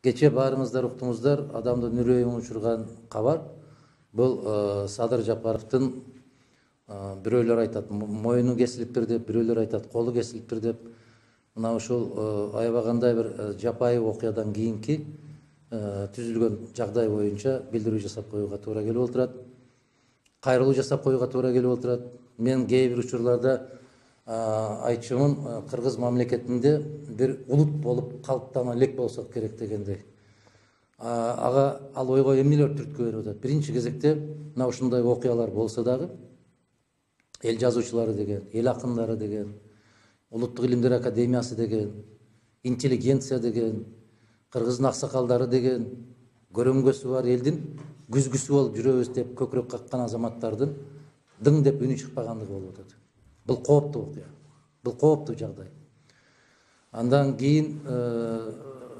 Кече баарыңыздар уктуңуздар, адамдын үрөйүн учурган кабар. Бул Садыр Жапаровдун бирөөлөр айтат моюну кесилиптир деп, бирөөлөр айтат колу кесилиптир деп. Мына ушул аябагандай бир жапайы окуядан кийинки түзүлгөн жагдай боюнча билдирүү жасап коюуга туура келип отурат. Кайрылуу жасап коюуга туура келип отурат. Мен кээ бир учурларда айтчумун, кыргыз мамлекетинде бир улут болуп калыптана элек болсок керек дегендей. Ага ал ойго эмнелер түрткү берип атат? Биринчи кезекте мына ушундай окуялар болсо дагы эл жазуучулары деген, эл акындары деген, Улуттук илимдер академиясы деген, интеллигенция деген, кыргыздын аксакалдары деген, көрөңгөсү бар элдин күзгүсү болуп жүрөбүз деп көкүрөк каккан азаматтардын дың деп үнү чыкпагандыгы болуп атат. Бул кооптуу окуя. Бул кооптуу жагдай. Андан кийин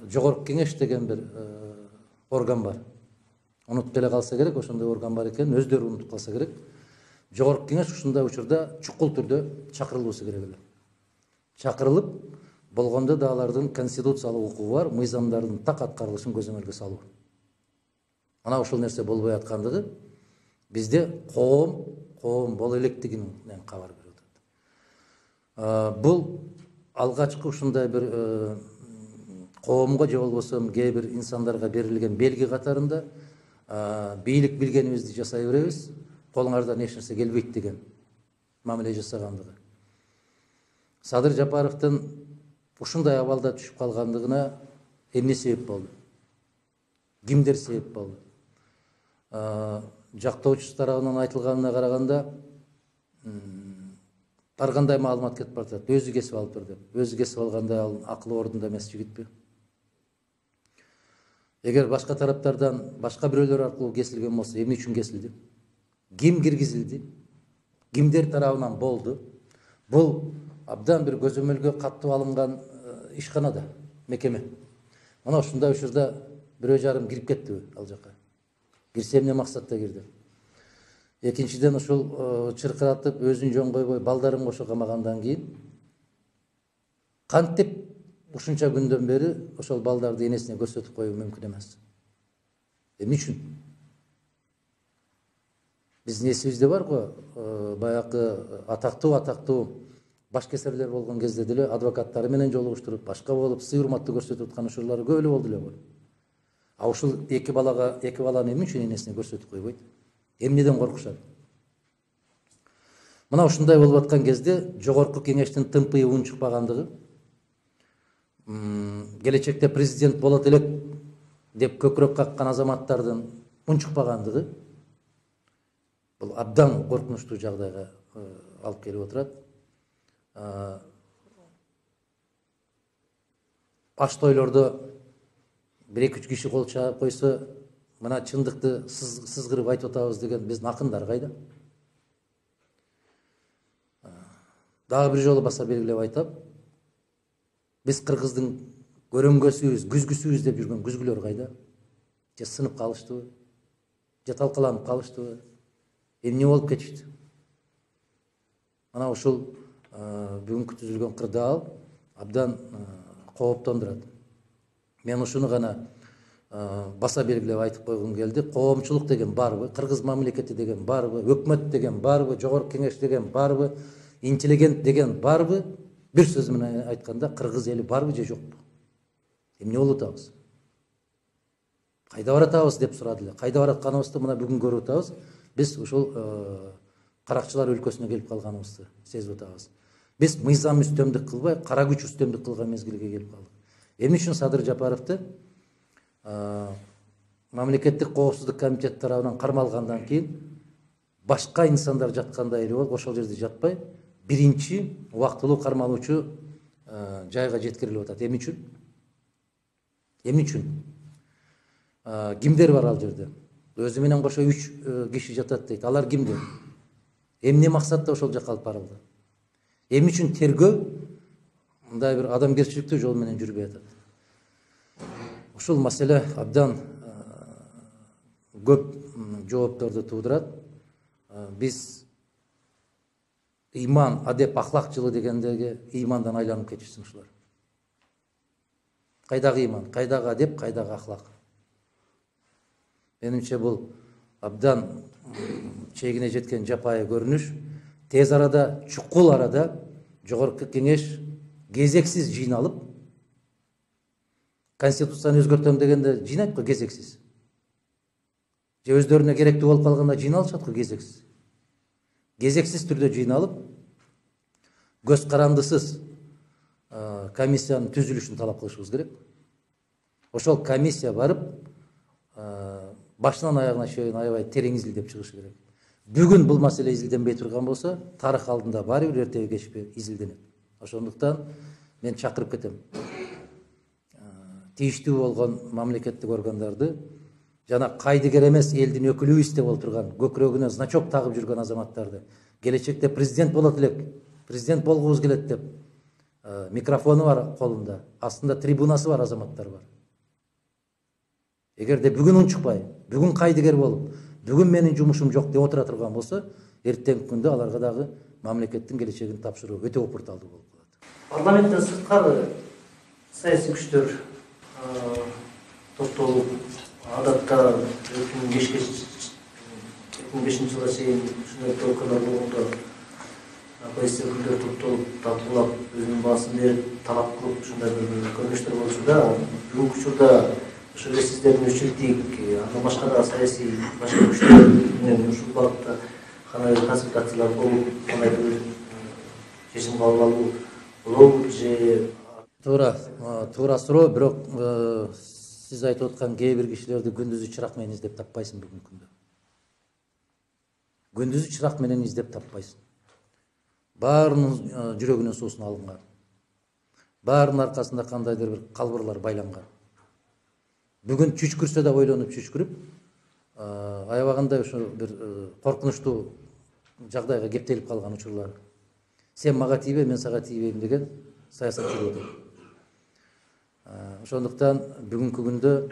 Жогорку кеңеш деген бир орган бар. Унутуп деле калса керек, ошондой орган бар экен, өздөрү унутуп калса керек. Жогорку кеңеш ушундай учурда чукул түрдө чакырылуусу керек эле. Чакырылып, болгондо да алардын конституциялык укугу бар, мыйзамдардын так аткарылышын көзөмөлгө салуу. Ана ушул нерсе болбой аткандыгы бизде коом боло электигинен кабар берип атат. Бул алгачкы ушундай бир коомго же болбосо кээ бир инсандарга берилген белги катарында бийлик билгенибизди жасай беребиз, колуңардан эч нерсе келбейт деген мамиле жасагандыгы. Садыр Жапаровдун ушундай абалда түшүп калгандыгына эмне себеп болду? Кимдер себеп болду? Жактоочусу тарабынан айтылганына караганда ар кандай маалымат кетип баратат. Өзү кесип алыптыр деп. Өзү кесип алгандай ал акылы ордунда эмес жигитпи? Эгер башка тараптардан башка бирөөлөр аркылуу кесилген болсо, эмне үчүн кесилди? Ким киргизилди? Кимдер тарабынан болду? Бул абдан бир көзөмөлгө каттуу алынган ишканада, мекеме. Мына ушундай учурда бирөө жарым кирип кеттиби ал жака? Кирсе эмне максатта кирди? Экинчиден ушул чыркыратып өзүн жөн койбой балдарын кошо камагандан кийин кантип ушунча күндөн бери ошол балдарды энесине көрсөтүп коюу мүмкүн эмес? Эмне үчүн? Биздин эсибизде барго, баягы атактуу башкесерлер болгон кезде деле адвокаттары менен жолугуштуруп, башка болуп, сый урматты көрсөтүп аткан учурлары көп эле болду эле го. А ушул эки баланы эмне үчүн энесине көрсөтүп койбойт? Эмнеден коркушат? Мына ушундай болуп аткан кезде Жогорку кеңештин тымпыйы уун чыкпагандыгы, келечекте президент болот элек деп көкүрөк каккан азаматтардын уун чыкпагандыгы бул абдан коркунучтуу жагдайга алып келип отурат. Аш тойлордо бир 2-3 киши кол чаап койсо, мына чындыкты сызгырып айтып атабыз деген биздин акындар кайда? Дагы бир жолу баса белгилеп айтам. Биз кыргыздын көрөңгөсүбүз, күзгүсүбүз деп жүргөн күзгүлөр кайда? Же сынып калыштыбы? Же талкаланып калыштыбы? Эмне болуп кетишти? Мана ушул бүгүнкү түзүлгөн кырдаал абдан кооптондурат. Мен ушуну гана баса белгилеп айтып койгум келди. Коомчулук деген барбы? Кыргыз мамлекети деген барбы? Өкмөт деген барбы? Жогорку кеңеш деген барбы? Интеллигент деген барбы? Бир сөз менен айтканда, кыргыз эли барбы же жокпу? Эмне болуп атабыз? Кайда баратабыз деп сурады эле. Кайда баратканыбызды мына бүгүн көрүп атабыз. Биз ушул каракчылар өлкөсүнө келип калганыбызды сезип атабыз. Биз мыйзам үстөмдүк кылбай, кара күч үстөмдүк кылган мезгилге келип калдык. Эмне үчүн Садыр Жапаровду мамлекеттик коопсуздук комитети тарабынан кармалгандан кийин башка инсандар жаткандай эле болуп, ошол жерде жатпай, биринчи убактылуу кармалуучу жайга жеткирилип атат. Эмне үчүн? Эмне үчүн? Кимдер бар ал жерде? Өзү менен кошо 3 киши жатат дейт. Алар кимдер? Эмне максатта ошол жака алып барылды? Эмне үчүн тергөө мындай бир адамгерчиликтүү жол менен жүрбөй атат? Ушул маселе абдан көп жоопторду туудурат. Биз иман, адеп, ахлак жылы дегендеги имандан айланып кетишсин ушулар. Кайдагы ыйман, кайдагы адеп, кайдагы ахлак? Менимче бул абдан чегине жеткен жапайы көрүнүш. Тез арада, чукул арада жогорку кеңеш кезексиз жыйналып, конституцияны өзгөртөм дегенде жыйнайт го кезексиз. Же өздөрүнө керектүү болуп калганда жыйналышат го кезексиз. Кезексиз түрдө жыйналып, көз карандысыз комиссиянын түзүлүшүн талап кылышыбыз керек. Ошол комиссия барып, башынан аягына чейин аябай терең изилдеп чыгышы керек. Бүгүн бул маселе изилденбей турган болсо, тарых алдында баары бир эртеби кечпи изилденет. Ошондуктан мен чакырып кетем. Тийиштүү болгон мамлекеттик органдарды жана кайдыгер эмес элдин өкүлүбүз деп отурган, көкүрөгүнө значок тагып жүргөн азаматтарды, келечекте президент болот элек, президент болгубуз келет деп, микрофону бар колунда, астында трибунасы бар азаматтар бар. Эгерде бүгүн унчукпай, бүгүн кайдыгер болуп, бүгүн менин жумушум жок деп отура турган болсо, эртеңки күндө аларга дагы мамлекеттин келечегин тапшыруу өтө опурталдуу болуп калат. Парламенттен сырткары саясий күчтөр топтолуп, адатта 2005 жылга чейин ушундай окуялар болгондо оппозиция өкүлдөрү топтолуп, талкуулап, өзүнүн баасын берип, талап кылып ушундай бир көрүнүштөр болчу да. Бүгүнкү учурда ошо сиздердин үчүлтик, андан башка да саясий башка күчтөр менен ушул багытта кандай консультациялар болуп, кандай бир чечим кабыл алуу болобу же? Туура суроо, бирок сиз айтып аткан кээ бир кишилерди күндүзү чырак менен издеп таппайсың бүгүнкү күндө. Күндүзү чырак менен издеп таппайсың. Баарынын жүрөгүнүн суусун алынган. Баарынын аркасында кандайдыр бир калбырлар байланган. Бүгүн чүчкүрсө да ойлонуп чүчкүрүп, аябагандай ошо бир коркунучтуу жагдайга кептелип калган учурлар. Сен мага тийбе, мен сага тийбейм деген саясат жүрүп атат. Ошондуктан бүгүнкү күндө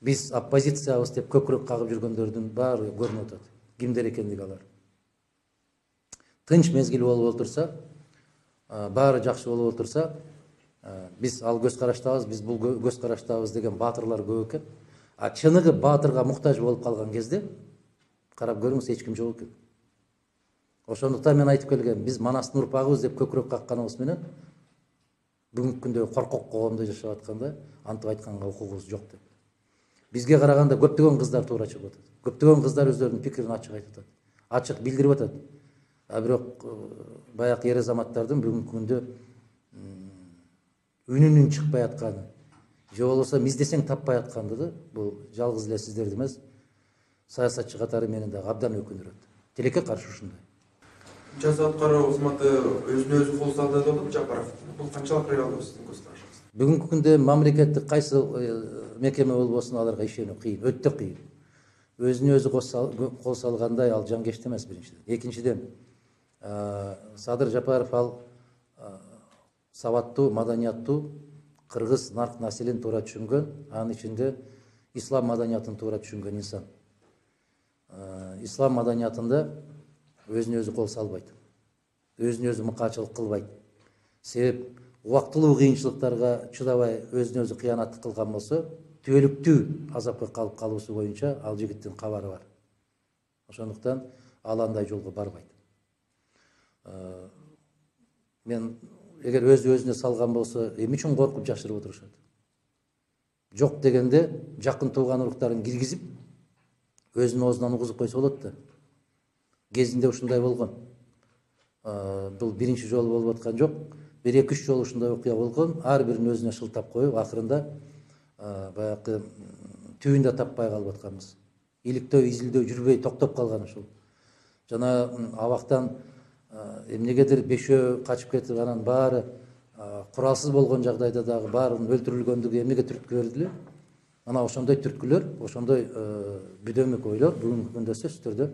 биз оппозициябыз деп көкүрөк кагып жүргөндөрдүн баары көрүнүп атат. Кимдер экендиги алар. Тынч мезгил болуп отурса, баары жакшы болуп отурса, биз ал көз караштабыз, биз бул көз караштабыз деген баатырлар көп экен. А чыныгы баатырга муктаж болуп калган кезде карап көрүңүз, эч ким жок экен. Ошондуктан мен айтып келгем, биз Манастын урпагыбыз деп көкүрөк какканыбыз менен бүгүнкү күндө коркок коомдо жашап атканда антип айтканга укугубуз жок деп. Бизге караганда көптөгөн кыздар туура чыгып атат. Көптөгөн кыздар өздөрүнүн пикирин ачык айтып атат. Ачык билдирип атат. А бирок баягы ер азаматтардын бүгүнкү күндө үнүнүн чыкпай атканы, же болбосо издесең таппай атканды да, бул жалгыз эле сиздерди эмес, саясатчы катары мени дагы абдан өкүндүрөт. Тилекке каршы ушундай. Жаза аткаруу кызматы өзүнө өзү кол салды деп атат Жапаров. Бул канчалык реалдуу сиздин көз карашыңыз? Бүгүнкү күндө мамлекеттик кайсы мекеме болбосун аларга ишенүү кыйын, өтө кыйын. Өзүнө өзү кол салгандай ал жангешти эмес биринчиден. Экинчиден, Садыр Жапаров ал сабаттуу, маданияттуу кыргыз нарк населин туура түшүнгөн, анын ичинде ислам маданиятын туура түшүнгөн инсан. Ислам маданиятында өзүнө өзү кол салбайт. Өзүнө өзү мыкаачылык кылбайт. Себеп убактылуу кыйынчылыктарга чыдабай өзүнө өзү кыянаттык кылган болсо, түбөлүктүү азапка калып калуусу боюнча ал жигиттин кабары бар. Ошондуктан ал андай жолго барбайт. Мен эгер өзүнө салган болсо, эмне үчүн коркуп жашырып отурушат? Жок дегенде жакын тууган уруктарын киргизип, өзүнүн оозунан угузуп койсо болот да. Кезинде ушундай болгон. Бул биринчи жолу болуп аткан жок. 1-2-3 жолу ушундай окуя болгон. Ар бирин өзүнө шылтап коюп, акырында баягы түбүндө таппай калып атканбыз. Иликтөө, изилдөө жүрбөй токтоп калган ушул. Жана абактан эмнегедир бешөө качып кетип, анан баары куралсыз болгон жагдайда дагы баарынын өлтүрүлгөндүгү эмнеге түрткү бердиле? Ана ошондой түрткүлөр, ошондой бүдөмүк ойлор бүгүнкү күндө сөзсүз түрдө